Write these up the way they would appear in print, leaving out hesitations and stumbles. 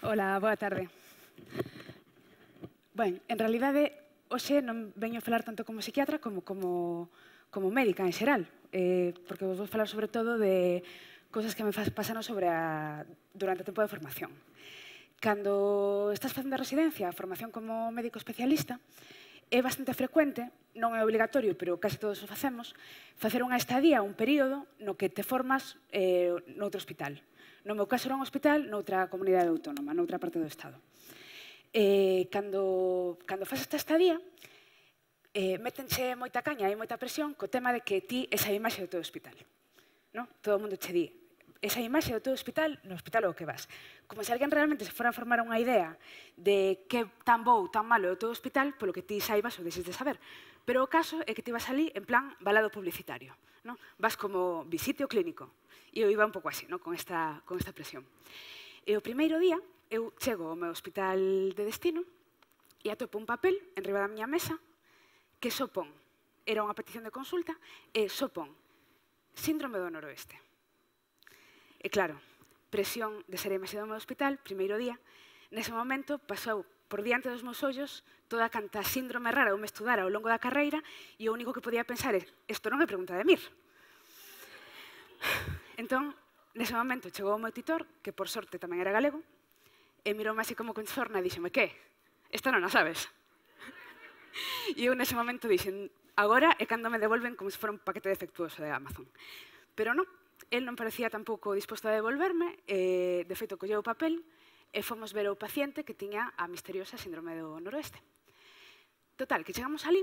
Hola, boa tarde. Ben, en realidade, hoxe non veño a falar tanto como psiquiatra como médica en xeral, porque vos vou falar sobre todo de cousas que me pasaron durante o tempo de formación. Cando estás facendo a residencia, a formación como médico especialista, é bastante frecuente, non é obligatorio, pero case todos o facemos, facer unha estadía, un período no que te formas noutro hospital. No meu caso era un hospital noutra comunidade autónoma, noutra parte do Estado. Cando faz esta estadía, métenche moita caña e moita presión co tema de que ti esa imaxe do teu hospital. Todo o mundo che di, esa imaxe do teu hospital, no hospital ao que vas. Como se alguén realmente se fora a formar unha idea de que tan bo ou tan malo é o teu hospital, polo que ti saibas ou deixes de saber. Pero o caso é que ti vas ali en plan balado publicitario. Vas como visite o clínico. E eu iba un pouco así, con esta presión. E o primeiro día, eu chego ao meu hospital de destino e atopo un papel enriba da miña mesa que só pon, era unha petición de consulta, e só pon síndrome do noroeste. E claro, presión de ser a imaxe do meu hospital, primeiro día, nese momento pasou por diante dos meus ollos toda canta síndrome rara ou me estudara ao longo da carreira e o único que podía pensar é, isto non é pregunta de Mir. Entón, nese momento chegou o meu titor, que por sorte tamén era galego, e miroume así como con sorna e díxome, que? Esta non a sabes? E eu nese momento dixen, agora é cando me devolven como se fora un paquete defectuoso de Amazon. Pero non, el non parecía tampouco disposto a devolverme, de feito colleu o papel e fomos ver o paciente que tiña a misteriosa síndrome do noroeste. Total, que chegamos ali,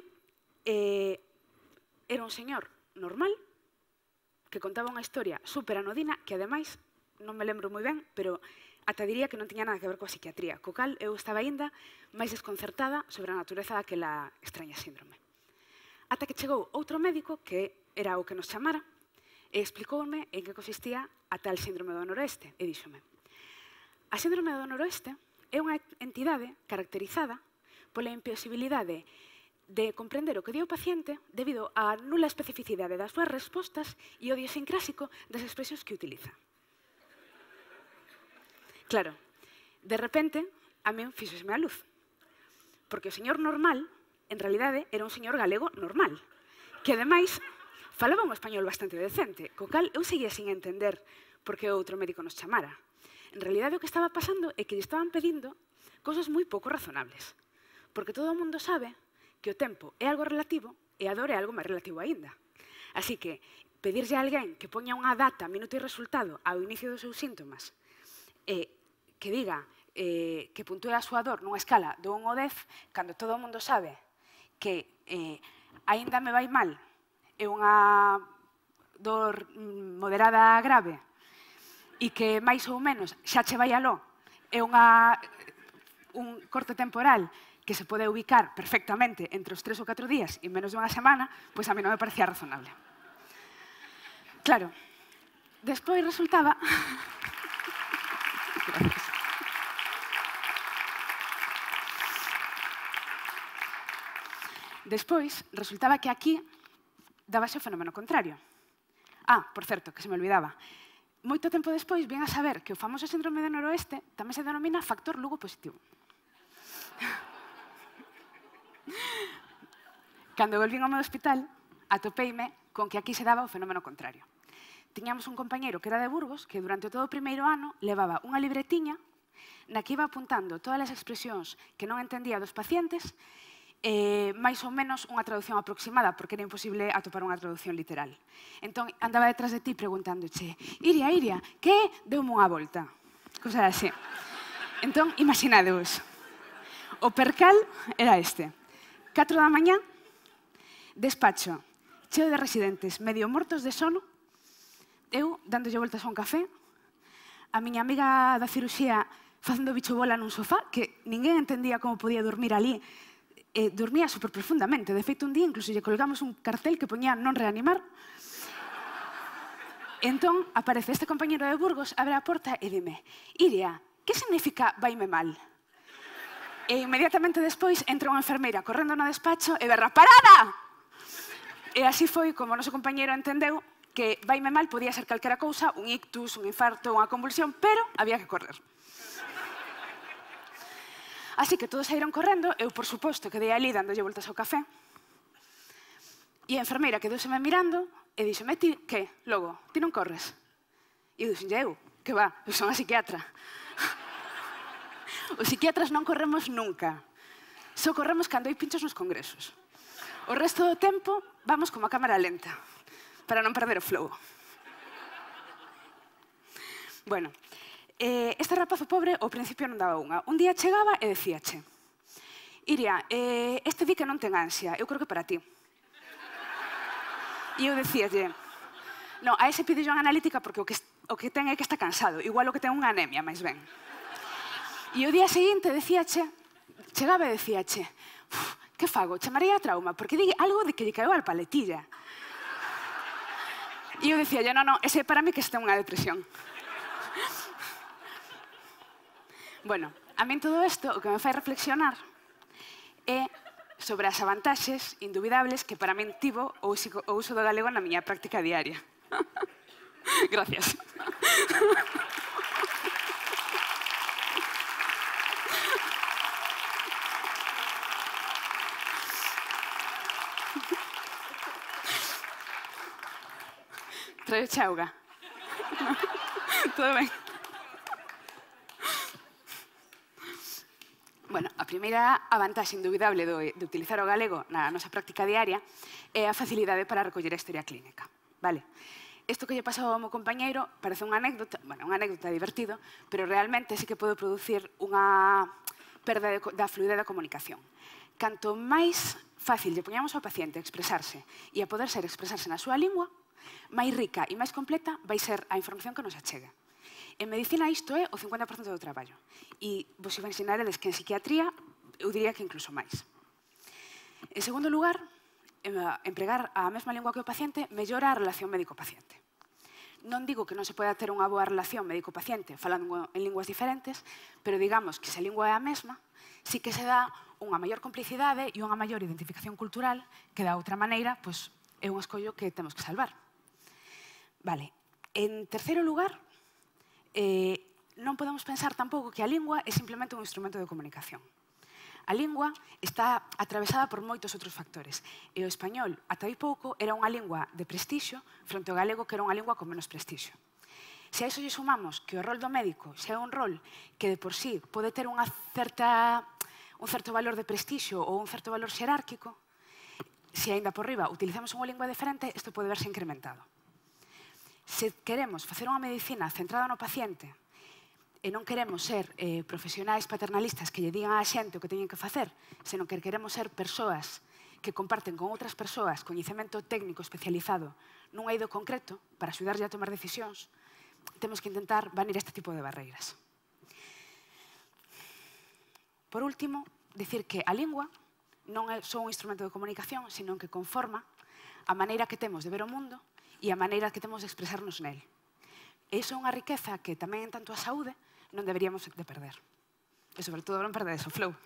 era un señor normal, que contaba unha historia super anodina, que ademais, non me lembro moi ben, pero ata diría que non tiña nada que ver coa psiquiatría, co cal eu estaba aínda máis desconcertada sobre a natureza daquela extraña síndrome. Ata que chegou outro médico, que era o que nos chamara, e explicoume en que consistía a tal síndrome do noroeste, e díxome, a síndrome do noroeste é unha entidade caracterizada pola imposibilidade de comprender o que di o paciente debido á nula especificidade das súas respostas e o idiosincrásico das expresións que utiliza. Claro, de repente, a min fíxosme a luz. Porque o señor normal, en realidade, era un señor galego normal, que ademais falaba un español bastante decente, co cal eu seguía sin entender por que outro médico nos chamara. En realidade, o que estaba pasando é que lle estaban pedindo cosas moi pouco razonables. Porque todo o mundo sabe que o tempo é algo relativo e a dor é algo máis relativo aínda. Así que, pedirlle a alguén que poña unha data, minuto e resultado ao inicio dos seus síntomas e que diga que puntúe a súa dor nunha escala do 1 ao 10, cando todo o mundo sabe que aínda me vai mal, é unha dor moderada a grave, e que máis ou menos xa che vai aló, é un corte temporal que se pode ubicar perfectamente entre os 3 ou 4 días e menos dunha semana, pois a mí non me parecía razonable. Claro, despois resultaba... Despois, resultaba que aquí dábase o fenómeno contrario. Por certo, que se me olvidaba. Moito tempo despois vin a saber que o famoso síndrome do noroeste tamén se denomina factor Lugo positivo. Cando volvín ao meu hospital, atopeime con que aquí se daba o fenómeno contrario. Tiñamos un compañeiro que era de Burgos que durante todo o primeiro ano levaba unha libretiña na que iba apuntando todas as expresións que non entendía dos pacientes máis ou menos unha traducción aproximada, porque era imposible atopar unha traducción literal. Entón, andaba detrás de ti preguntándoche, Iria, que deume unha volta? Cosa así. Entón, imaginadevos. O percal era este. 4 da mañá, despacho, cheo de residentes, medio mortos de sono, eu dándolle voltas a un café, a miña amiga da cirurxía facendo bicho bola nun sofá, que ninguén entendía como podía dormir ali, dormía super profundamente. De feito, un día incluso lle colgamos un cartel que poñía non reanimar. Entón, aparece este compañero de Burgos, abre a porta e dime, Iria, que significa vaime mal? E inmediatamente despois entra unha enfermeira correndo no despacho e berra, parada! E así foi como o noso compañero entendeu que vaime mal podía ser calquera cousa, un ictus, un infarto, unha convulsión, pero había que correr. Así que todos saíron correndo, eu, por suposto, quedei ali dándolle voltas ao café, e a enfermeira quedouseme mirando e díxome, ti, que, logo, ti non corres? E eu dixenlle, eu, que va, eu son a psiquiatra. Os psiquiatras non corremos nunca. Só corremos cando hai pinchos nos congresos. O resto do tempo vamos como a cámara lenta, para non perder o flow. Bueno, este rapazo pobre ao principio non daba unha. Un día chegaba e decíache, Iria, este di que non ten ansia, eu creo que para ti. E eu decíalle, no, a ese pide unha analítica porque o que ten é que está cansado, igual o que ten unha anemia, máis ben. E o día seguinte decíache, chegaba e decíache, que fago, chamarei a trauma, porque di algo de que lle caeu al paletilla. E eu decíalle, no, ese para mí que está unha depresión. Bueno, a min todo isto o que me fai reflexionar é sobre as avantaxes indubidables que para min tivo o uso do galego na miña práctica diaria. Gracias. Traio chauga. Todo ben. Bueno, a primeira avantaxe indubidable de utilizar o galego na nosa práctica diaria é a facilidade para recoller a historia clínica. Vale? Isto que lle pasou ao meu compañeiro parece unha anécdota, bueno, unha anécdota divertido, pero realmente sí que pode producir unha perda da fluidez da comunicación. Canto máis fácil lle poñamos ao paciente expresarse e a poder ser expresarse na súa lingua, máis rica e máis completa vai ser a información que nos achega. En medicina isto é o 50% do traballo. E vos imagiнаredes que en psiquiatría eu diría que incluso máis. En segundo lugar, empregar a mesma lingua que o paciente mellora a relación médico-paciente. Non digo que non se poda ter unha boa relación médico-paciente falando en linguas diferentes, pero digamos que se a lingua é a mesma, sí que se dá unha maior complicidade e unha maior identificación cultural que da outra maneira pois, é un escollo que temos que salvar. Vale. En terceiro lugar, non podemos pensar tampouco que a lingua é simplemente un instrumento de comunicación. A lingua está atravesada por moitos outros factores. E o español, ata hai pouco, era unha lingua de prestixio fronte ao galego, que era unha lingua con menos prestixio. Se a iso lle sumamos que o rol do médico xa é un rol que de por sí pode ter un certo valor de prestixio ou un certo valor xerárquico, se aínda por riba utilizamos unha lingua diferente, isto pode verse incrementado. Se queremos facer unha medicina centrada no paciente e non queremos ser profesionais paternalistas que lle digan á xente o que teñen que facer, senón que queremos ser persoas que comparten con outras persoas coñecemento técnico especializado nun eido concreto para axudarlle a tomar decisións, temos que intentar banir este tipo de barreiras. Por último, dicir que a lingua non é só un instrumento de comunicación, senón que conforma a maneira que temos de ver o mundo e a maneira que temos de expresarnos nel. E iso é unha riqueza que tamén en tanto a saúde non deberíamos de perder. E sobre todo non perdedes o flow.